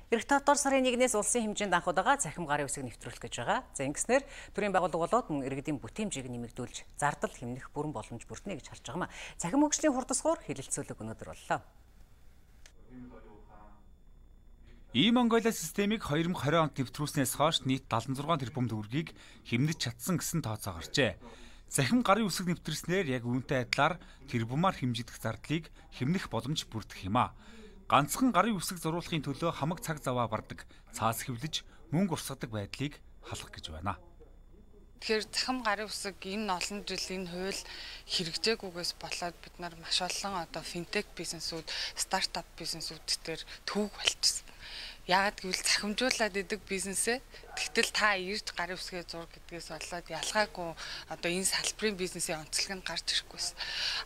Ирэх 7 дугаар сарын 1-ээс улсын хэмжээнд анх удаага цахим гарын үсэг нэвтрүүлэх гэж байгаа. За ингэснээр төрийн байгууллага болоод мөн иргэдийн бүтээмжийг нэмэгдүүлж зардал хэмнэх бүрэн боломж бүрднэ гэж харж байгаа юм. Цахим хөгжлийн хурдасгуур хэлэлцүүлэг өнөөдөр боллоо. E-Mongolia системийг 2020 онд нэвтрүүлснээс хойш нийт 76 тэрбум төгрөгийг хэмнэж чадсан гэсэн тооцоо гарчээ. Цахим гарын үсэг нэвтрүүлснээр яг үүнтэй адилаар тэрбумаар хэмжигдэх зардлыг хэмнэх боломж бүрдэх юм а. Ганцхан гарын үсэг зурулахын төлөө хамаг цаг заваа бардаг, цаас хэвлэж мөнгө урсгадаг байдлыг халах гэж байна. Тэгэхээр цахим гарын үсэг энэ олон жилийн хууль хэрэгжээгүйгээс болоод бид нар маш олон финтек бизнесүүд, стартап бизнесүүд дээр төвөг болчихсон. Яагаад гэвэл цахимжуулаад идэг бизнесээ тэгтэл та ирж гарын үсгээ зур гэдгээс болоод ялгаагүй энэ салбарын бизнесийн онцлог нь гарч ирэхгүйс.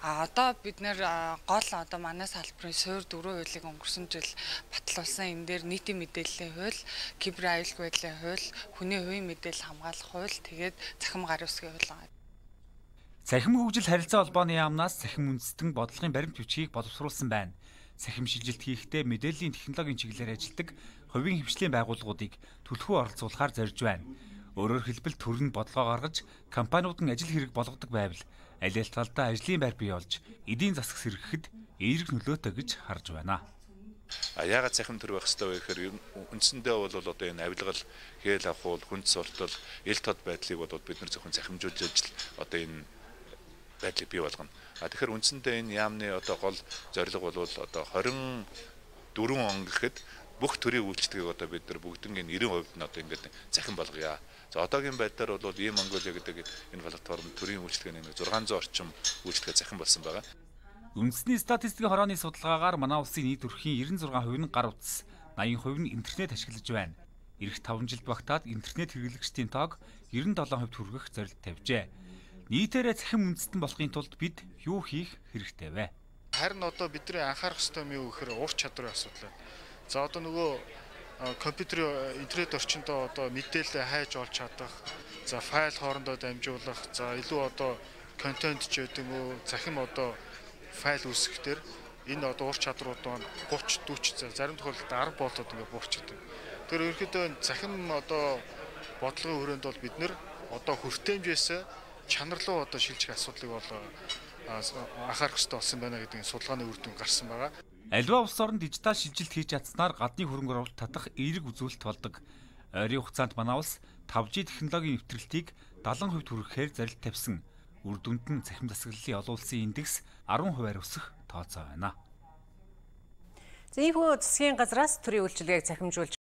Одоо бид нэр гол манай салбарын суур 4 хуулийг өнгөрсөн жил батлуулсан энэ дээр нийтийн мэдээллийн хууль, кибер аюулгүй байдлын хууль, хүний хувийн мэдээлэл хамгаалах хууль, тэгээд цахим гарын үсгийн хууль байгаа. Цахим хөгжил харилцаа холбооны яамнаас цахим үндэстэн бодлогын баримт бичгийг боловсруулсан байна. Цахим шилжилт хийхдээ мэдээллийн технологийн чиглэлээр ажилладаг хувийн хвшлийн байгууллагуудыг түлхүү оролцуулахаар зорж байна. Өөрөөр хэлбэл төрөнд бодлогоо гаргаж, компаниуд нь ажил хэрэг болгодог байвал аль аль талдаа ажлын байр бий болж, эдийн засаг сэргэхэд эерэг нөлөөтэй гэж харж байна. Яагаад цахим төр байх ёстой вэ гэхээр үндсэндээ бол одоо энэ авилгал, хээл авахуул, хүнс суртал, ил тод байдлыг бол бид нар зөвхөн цахимжуулж ажил одоо энэ байдлыг бий болгоно. Тэгэхээр үндсэндээ энэ яамны гол зорилго бол 24 он гэхэд бүх төрийн үйлчлэгийг бид нар бүгднийг 90% нь ингээд цахим болгоё. За одоогийн байдлаар бол E-Mongolia гэдэг энэ платформ төрийн үйлчлэгийн 600 орчим үйлчлэгээ цахим болсон байгаа. Үндэсний статистикийн хорооны судалгаагаар манай улсын нийт өрхийн 96% нь гар утас, 80% нь интернет ашиглаж байна. Ирэх 5 жил багтаад интернет хэрэглэгчдийн тоог 97% хүргэх зорилт тавьжээ. Нийтээрээ цахим үндэстэн болохын тулд бид юу хийх хэрэгтэй вэ? Харин бидний анхаарах ёстой юм юу гэхээр ур чадварын асуудал. За нөгөө компьютерийн интернет орчиндөө мэдээлэл хайж олж чадах, за файл хоорондоо дамжуулах, за илүү контент ч гэдэг нь цахим файл үүсгэхээр энэ ур чадрууд маань 30 40 зарим тохиолдолд 10 болоод ингээд буурчдаг. Тэр ерөнхийдөө цахим бодлогын хүрээнд бол бид нэр хүртээмжээс чанар руу шилжих асуудлыг анхаарах хэрэгтэй болсон байна гэдэг судалгааны үр дүн гарсан байгаа. Аливаа улс орнд дижитал шилжилт хийж чадсанаар гадны хөрөнгө оруулалт татах эерэг үзүүлэлт болдог. Ойрын хугацаанд манай улс 5G технологийн нэвтрэлтийг 70% хүргэхээр зорилт тавьсан. Үр дүнд нь цахим засаглалын олон улсын индекс 10% өсөх тооцоо байна. За ийм засгийн газраас төрийн үйлчилгээг цахимжуулж